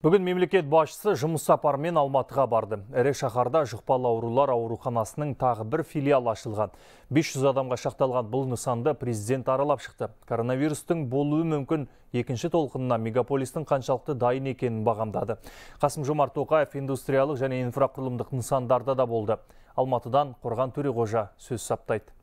Бүгін мемлекет басшысы жұмыс сапарымен Алматыға барды. Ірі шаһарда жұқпалы аурулар ауруханасының тағы бір филиал ашылған. 500 адамға шақталған бұл нысанды президент аралап шықты. Коронавирустың болуы мүмкін екінші толқынына мегаполистің қаншалықты дайын екенін бағамдады. Қасым-Жомарт Тоқаев индустриялық және инфрақұрылымдық нысандарда да болды. Алматыдан Қорған Төреғожа сөз саптайды.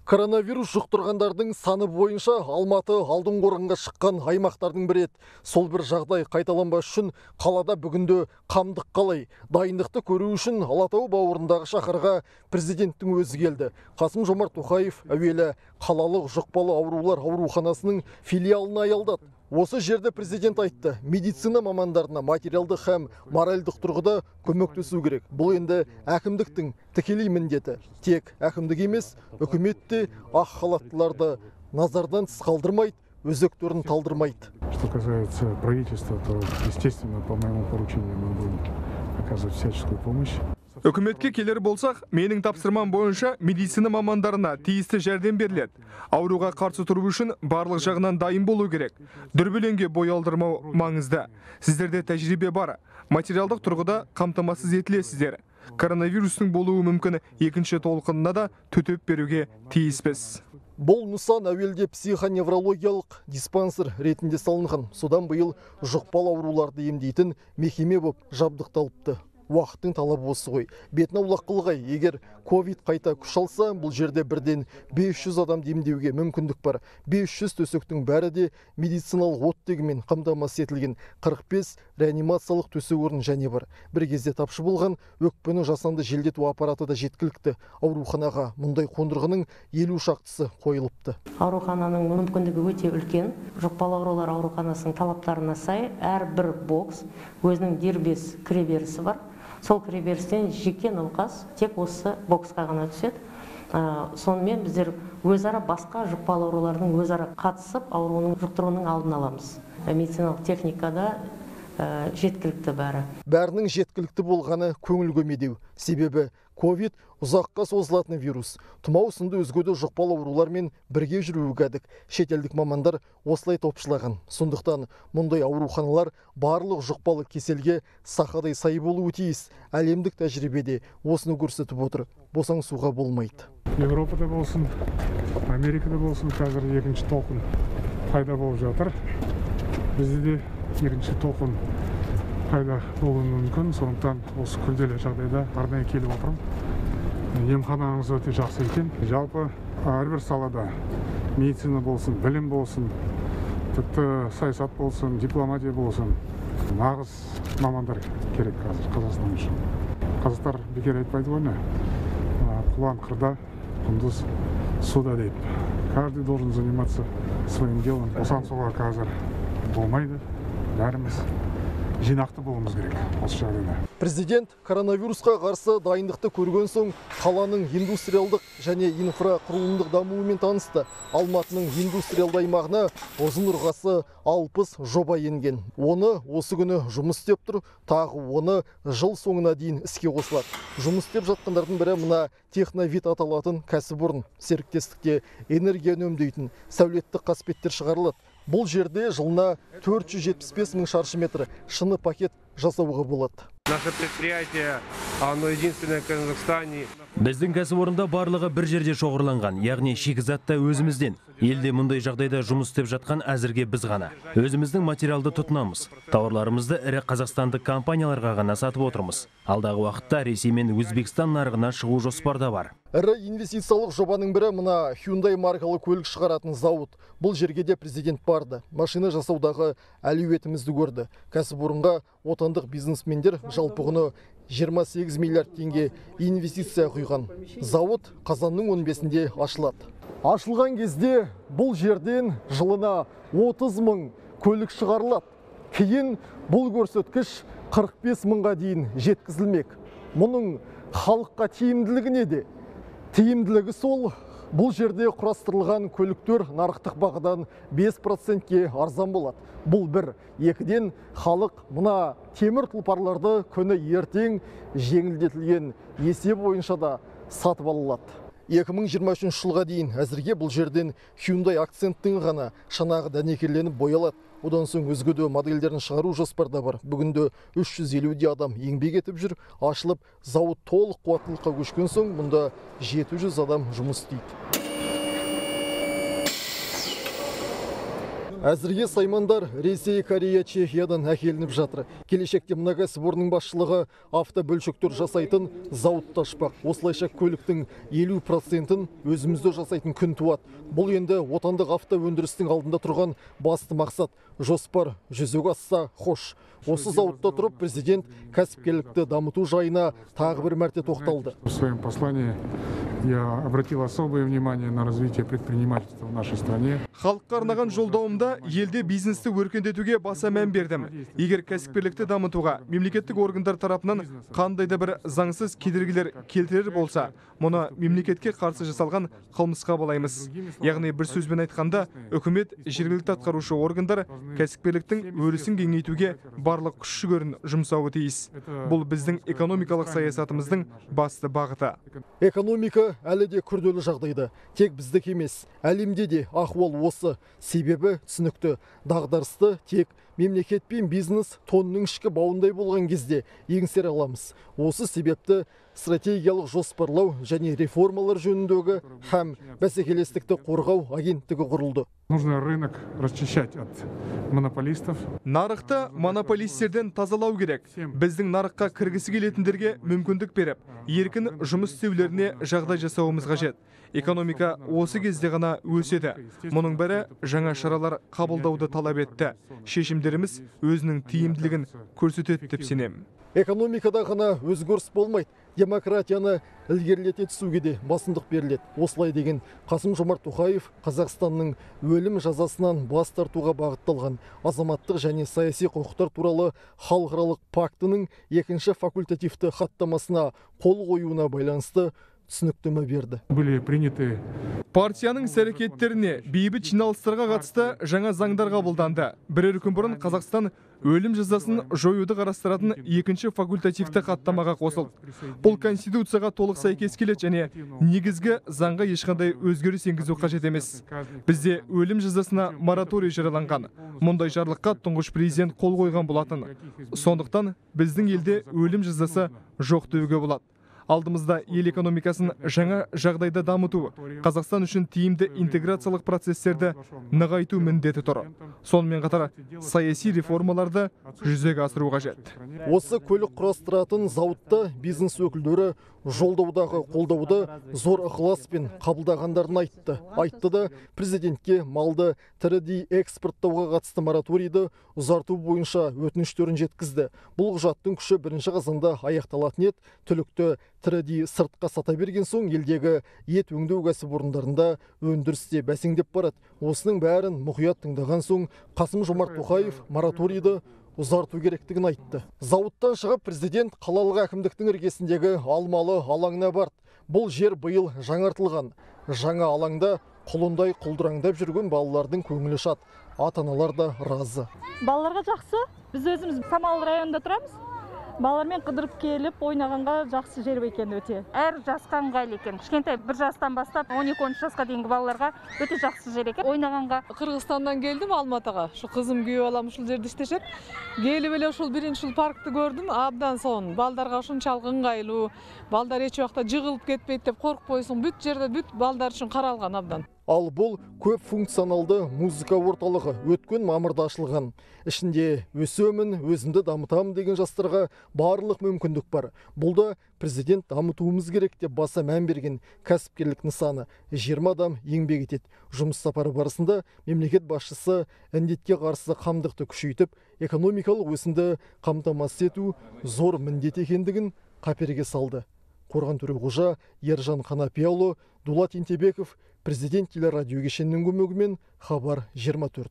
Коронавирус жұқтырғандардың саны бойынша Алматы алдыңғы орынға шыққан аймақтардың бірі еді. Сол бір жағдай қайталанбас үшін қалада бүгінде қамдық қалай? Дайындықты көру үшін Алатау бауырындағы шаһарға президенттің өзі келді. Қасым-Жомарт Тоқаев әуелі қалалық жұқпалы аурулар ауруханасының филиалына аялдады. Осы жерде президент айтты, медицина мамандарына материалдық һәм моральдық тұрғыда көмектесу керек. Бұл енді әкімдіктің тікелей міндеті. Тек әкімдік емес, үкімет те ақ халаттыларды назардан тыс қалдырмайды, өзектерін талдырмайды. Что касается правительства, то, естественно, по моему поручению мы будем оказывать всяческую помощь. Үкіметке келер болсақ, менің тапсырмам бойынша медицина мамандарына тиісті жәрдем беріледі. Ауруға қарсы тұру үшін барлық жағынан дайын болу керек. Дүрбелеңге бой алдырмау маңызды. Сіздерде тәжірибе бар. Материалдық тұрғыда қамтамасыз етілесіздер. Коронавирустың болуы мүмкін екінші толқынына да төтеп беруге тиіспіз. Бұл нысан әуелде психоневрологиялық диспансер ретінде салынған. Содан биыл жұқпалы ауруларды емдейтін мекеме болып жабдықталыпты. Уақыттың талабы осы ғой. Бетін аулақ қылғай, егер ковид қайта күш алса, бұл жерде бірден 500 адам демдеуге мүмкіндік бар. 500 төсектің бәрі де медициналық оттегімен қамтамасыз етілген. 45 реанимациялық төсек орын және бар. Бір кезде тапшы болған өкпені жасанды желдету аппараты да жеткілікті. Ауруханаға мұндай қондырғының 50 шақтысы қойылыпты. Аурухананың мүмкіндігі өте үлкен. Жұқпалы аурулар ауруханасының талаптарына сай әрбір бокс өзінің дербес кіреберісі бар. Сол кіреберістен жеке науқас тек осы боксқа ғана түседі. Сонымен біздер өзара басқа жұқпалы аурулардың өзара қатысып ауруының жұқтыруының алдын аламыз. Медициналық техникада жеткілікті бәрі. Бәрінің жеткілікті болғаны көңіл көмедеу. Себебі ковид ұзаққа созылатын вирус. Тұмау сынды өзгеде жұқпалы аурулармен бірге жүруі кәдік. Шетелдік мамандар осылай топшылаған. Сондықтан мұндай ауруханалар барлық жұқпалы кеселге сақадай сай болуы тиіс. Әлемдік тәжірибеде осыны көрсетіп отыр. Босаңсуға болмайды. Европада болсын, Америкада болсын, қазір екінші толқын пайда болып жатыр. Бізде де екінші толқын пайда болуы мүмкін. Сондықтан осы күрделі жағдайда арнайы келіп отырмын. Емханаңыз өте жақсы екен. Жалпы әрбір салада медицина болсын, білім болсын, тіпті саясат болсын, дипломатия болсын, нағыз мамандар керек қазір Қазақстан үшін. Қазақтар бекер айтпайды ғой, құлан қырда, құндыз суда деп. Каждый должен заниматься своим делом. Босаңсуға қазір болмайды. Бәріміз жинақты болуымыз керек осы жағдайда. Президент коронавирусқа қарсы дайындықты көрген соң қаланың индустриалдық және инфрақұрылымдық дамуымен танысты. Алматының индустриалды аймағына ұзын ырғасы 60 жоба енген. Оны осы күні жұмыс істеп тұр, тағы оны жыл соңына дейін іске қосылады. Жұмыс істеп жатқандардың бірі мына Техновид аталатын кәсіпорын. Серіктестікте энергия үнемдейтін сәулеттік қасбеттер шығарылады. Бұл жерде жылына 475 мың шаршы метр шыны пакет жасауға болады. Наше предприятие, оно единственное в Казахстане. Біздің кәсіпорында барлығы бір жерде шоғырланған, яғни шикізатта өзімізден. Елде мұндай жағдайда жұмыс істеп жатқан әзірге біз ғана. Өзіміздің материалды тұтынамыз. Тауарларымызды ірі қазақстандық компанияларға ғана сатып отырмыз. Алдағы уақытта Ресей мен Өзбекстан нарығына шығу жоспарда бар. Ірі инвестициялық жобаның бірі мына Hyundai маркалы көлік шығаратын зауыт. Бұл жерге де президент барды. Машина жасаудағы әлеуетімізді көрді. Кәсіпорынға отандық бизнесмендер жалпы құны 28 миллиард теңге инвестиция құйған. Зауыт қазанның 15-інде ашылады. Ашылған кезде бұл жерден жылына 30 мың көлік шығарылады. Кейін бұл көрсеткіш 45 мыңға дейін жеткізілмек. Мұның халыққа тиімділігі неде? Тиімділігі сол, бұл жерде құрастырылған көліктер нарықтық бағадан 5%-ке арзан болады. Бұл бір. Екіден халық мына темір тұлпарларды күні ертең жеңілдетілген есеп бойынша да сатып алынады. 2023 жылға дейін әзірге бұл жерден Hyundai акценттің ғана шанағы дәнекерленіп боялады. одан соң өзге де модельдерін шығару жоспарда бар. Бүгінде 350 адам еңбек етіп жүр. Ашылып, зауыт толық қуаттылыққа көшкен соң, мұнда 700 адам жұмыс істейді. Әзірге саймандар Ресей, Корея, Чехиядан әкелініп жатыр. Келешекте мына кәсіпорынның басшылығы автобөлшектер жасайтын зауытты ашпақ. Осылайша көліктің 50%-ін өзімізде жасайтын күн туады. Бұл енді отандық автоөндірістің алдында тұрған басты мақсат. Жоспар жүзеге асса хош. Осы зауытта тұрып президент кәсіпкерлікті дамыту жайына тағы бір мәрте тоқталды. В своем послании я обратил особое внимание на развитие предпринимательства в нашей стране. Халыққа арнаған жолдауымда елде бизнесті өркендетуге баса мән бердім. Егер кәсіпкерлікті дамытуға мемлекеттік органдар тарапынан қандай да бір заңсыз кедергілер келтірер болса, мұны мемлекетке қарсы жасалған қылмысқа балаймыз. Яғни бір сөзбен айтқанда, үкімет, жергілікті атқарушы органдар кәсіпкерліктің өрісін кеңейтуге барлық күш-жүгерін жұмсауы тиіс. Бұл біздің экономикалық саясатымыздың басты бағыты. Экономика әлі де күрделі жағдайда. Тек біздік емес, әлемде де ахуал осы. Себебі түсінікті, дағдарысты тек мемлекет пен бизнес тонның ішкі бауындай болған кезде еңсере аламыз. Осы себепті стратегиялық жоспарлау және реформалар жөніндегі һәм бәсекелестікті қорғау агенттігі құрылды. Нужно рынок расчищать от монополистов. Нарықты монополистерден тазалау керек. Біздің нарыққа кіргісі келетіндерге мүмкіндік беріп, еркін жұмыс істеулеріне жағдай жасауымыз қажет. Экономика осы кезде ғана өседі. Мұның бәрі жаңа шаралар қабылдауды талап етті. Шешімдеріміз өзінің тиімділігін көрсетеді деп сенемін. Экономикада ғана өзгеріс болмайды. Демократияны ілгерілете түсуге де басымдық беріледі. Осылай деген Қасым-Жомарт Тоқаев Қазақстанның өлім жазасынан бас тартуға бағытталған азаматтық және саяси құқықтар туралы халықаралық пактының 2-ші факультативті хаттамасына қол қоюына байланысты түсініктеме берді. Были приняты Партияның іс-әрекеттеріне бейбіт жиналыстарға қатысты жаңа заңдар қабылданды. Бірер күн бұрын Қазақстан өлім жазасын жоюды қарастыратын 2-ші факультативті хаттамаға қосылды. Бұл конституцияға толық сәйкес келеді және негізгі заңға ешқандай өзгеріс енгізу қажет емес. Бізде өлім жазасына мораторий жарияланған. Мұндай жарлыққа тұңғыш президент қол қойған болатын. Сондықтан біздің елде өлім жазасы жоқ деуге болады. Алдымызда ел экономикасын жаңа жағдайда дамыту, Қазақстан үшін тиімді интеграциялық процесстерді нығайту міндеті тұр. Сонымен қатар саяси реформаларды жүзеге асыру қажет. Осы көлік құрастыратын зауытта бизнес өкілдері жолдаудағы қолдауды зор ықыласпен қабылдағандарын айтты. Айтты да президентке малды тірідей экспорттауға қатысты мораторийді ұзарту бойынша өтініштерін жеткізді. Бұл құжаттың күші 1 қазанда аяқталатын еді. Түлікті тірідей сыртқа сата берген соң елдегі ет өңдеу кәсіпорындарында өндірісте бәсеңдеп барады. Осының бәрін мұқият тыңдаған соң Қасым-Жомарт Тоқаев мораторийді ұзарту керектігін айтты. Зауыттан шығып президент қалалық әкімдіктің іргесіндегі Алмалы алаңына барды. Бұл жер биыл жаңартылған. Жаңа алаңда құлындай құлдыраңдап жүрген балалардың көңілі шат. Ата-аналар да разы. Балаларға жақсы. Біз өзіміз Самал районында тұрамыз. Балалармен қыдырып келіп ойнағанға жақсы жер екен өте. Әр жасқа ыңғайлы екен. Кішкентай 1 жастан бастап 12-13 жасқа дейінгі балаларға өте жақсы жер екен. Ойнағанға. Қырғызстаннан келдім Алматыға. Шу қызым күйеу балам ушул жерде иштешет. Келип эле ушул биринчи паркты көрдүм. Абдан сонун. Балдарга ушунчалык ыңгайлуу. Балдар эч убакта жыгылып кетпейт деп коркпойсуң. Бүт жерде бүт балдар үчүн каралган абдан. Ал бұл көп функционалды музыка орталығы өткен мамырда ашылған. Ішінде өсемін, өзімді дамытамын деген жастарға барлық мүмкіндік бар. Бұл да президент дамытуымыз керек деп баса мән берген кәсіпкерлік нысаны. 20 адам еңбек етеді. Жұмыс сапары барысында мемлекет басшысы індетке қарсы қамдықты күшейтіп, экономикалық өсімді қамтамасыз ету зор міндет екендігін қаперге салды. Қорған Төреғожа, Ержан Қанапияұлы, Дулат Ентебеков, Президент телерадио кешенінің көмегімен Хабар 24.